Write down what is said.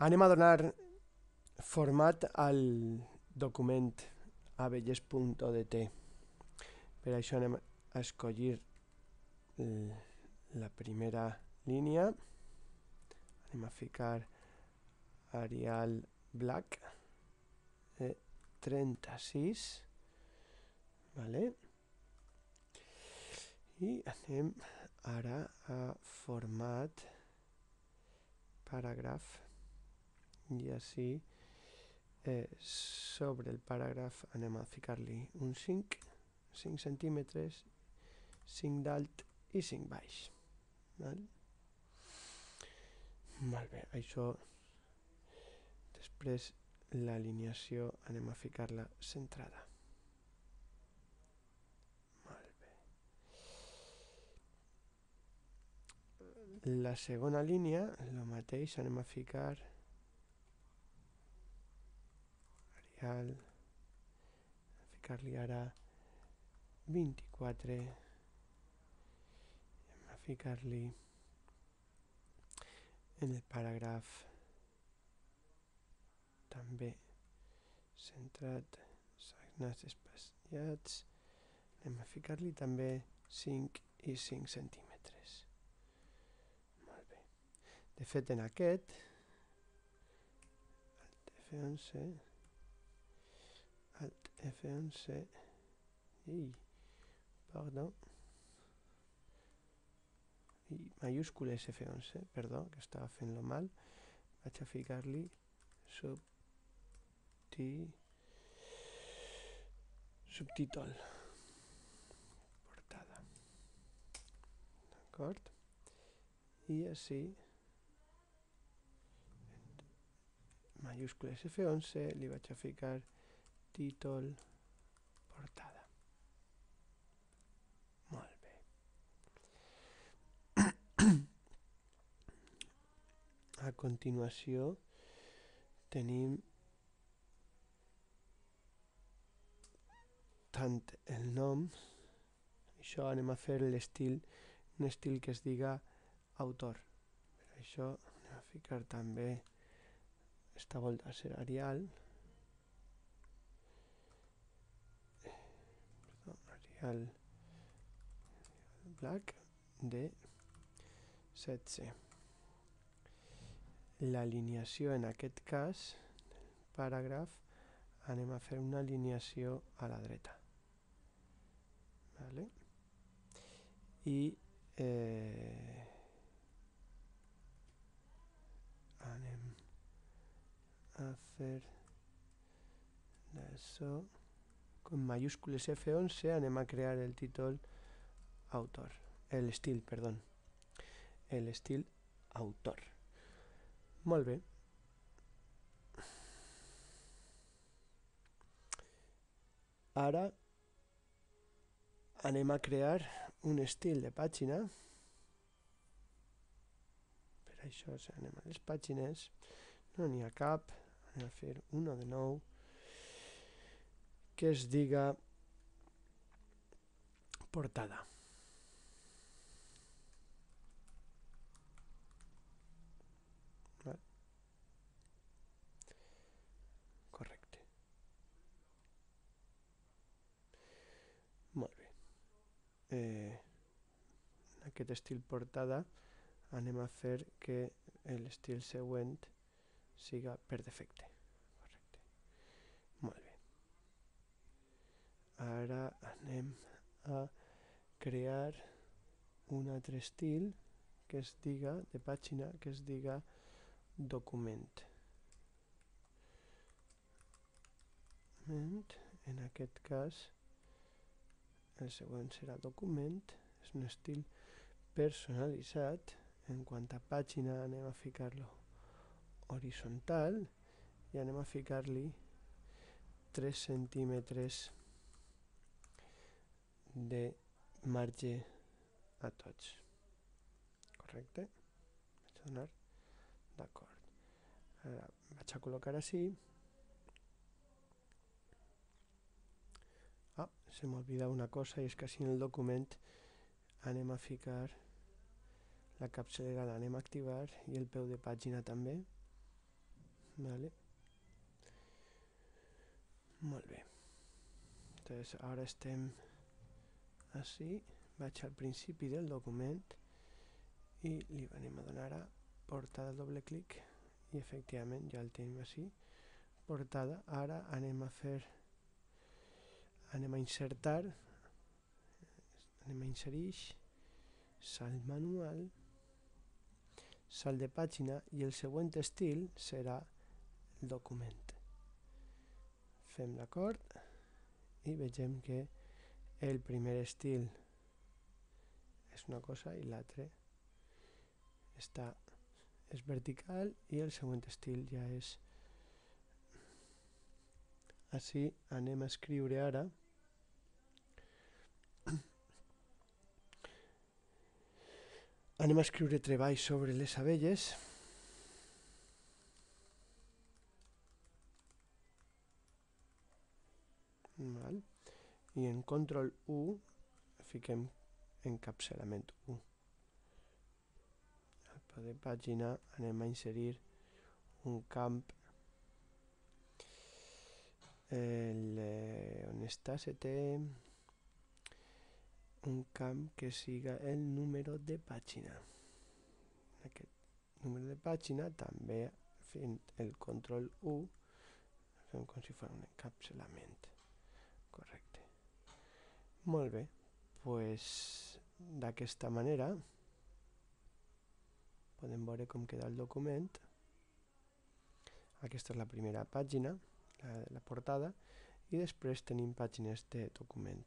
Anem a donar format al document abelles.odt. Per això anem a escollir la primera línia. Anem a ficar Arial Black 36, vale? I anem ara a format paràgraf i així sobre el paràgraf anem a ficar-li un 5 centímetres, 5 d'alt i 5 baix. Val? Molt bé, això després l'alineació anem a ficar-la centrada. Molt bé. La segona línia, el mateix, anem a ficar Arial, a ficar-li ara 24, anem a ficar-li en el paràgraf també centrat, sagnats espaciats, anem a ficar-li també 5 i 5 centímetres. Molt bé. De fet, en aquest, Alt F11, Alt F11, perdó, i majúscules F11, perdó, que estava fent-lo mal, vaig a ficar-li subtítol, portada, d'acord? I així, majúscules F11, li vaig a ficar títol, portada. Molt bé. A continuació tenim tant el nom, això anem a fer l'estil, un estil que es diga autor. Per això anem a ficar també, esta volta a ser Arial, Arial Black de 16. L'alineació en aquest cas, paràgraf, anem a fer una alineació a la dreta. Vale? I anem a fer d'això, con majúscules F11 anem a crear el títol autor, l'estil, perdó, l'estil autor. Molt bé. Ara anem a crear un estil de pàgina. Per això anem a les pàgines, no n'hi ha cap, anem a fer uno de nou que es diga portada. Correcte. Molt bé. En aquest estil portada anem a fer que l'estil següent siga per defecte. Correcte. Molt bé. Ara anem a crear un altre estil que es diga, de pàgina, que es diga document. En aquest cas el següent serà document, és un estil personalitzat. En quant a pàgina anem a ficar-lo horitzontal i anem a ficar-li 3 centímetres de marge a tots. Correcte? Vaig a donar d'acord. Ara vaig a col·locar així. Se m'olvida una cosa, i és que així en el document anem a ficar la capçalera, l'anem a activar, i el peu de pàgina també. vale. Molt bé. Entonces ara estem així, vaig al principi del document i li anem a donar a portada, doble clic i efectivament ja el tenim així, portada. Ara anem a insertar, anem a inserir, salt manual, salt de pàgina i el següent estil serà el document. Fem l'acord i vegem que el primer estil és una cosa i l'altre és vertical i el següent estil ja és així. Anem a escriure ara treball sobre les abelles. Val. I en control 1 fiquem encapçalament 1. Al peu de pàgina anem a inserir un camp on està un camp que siga el número de pàgina. Aquest número de pàgina també fent el control 1 fem com si fos un encapçalament. Correcte. Molt bé, doncs d'aquesta manera podem veure com queda el document. Aquesta és la primera pàgina, la portada, i després tenim pàgines de document.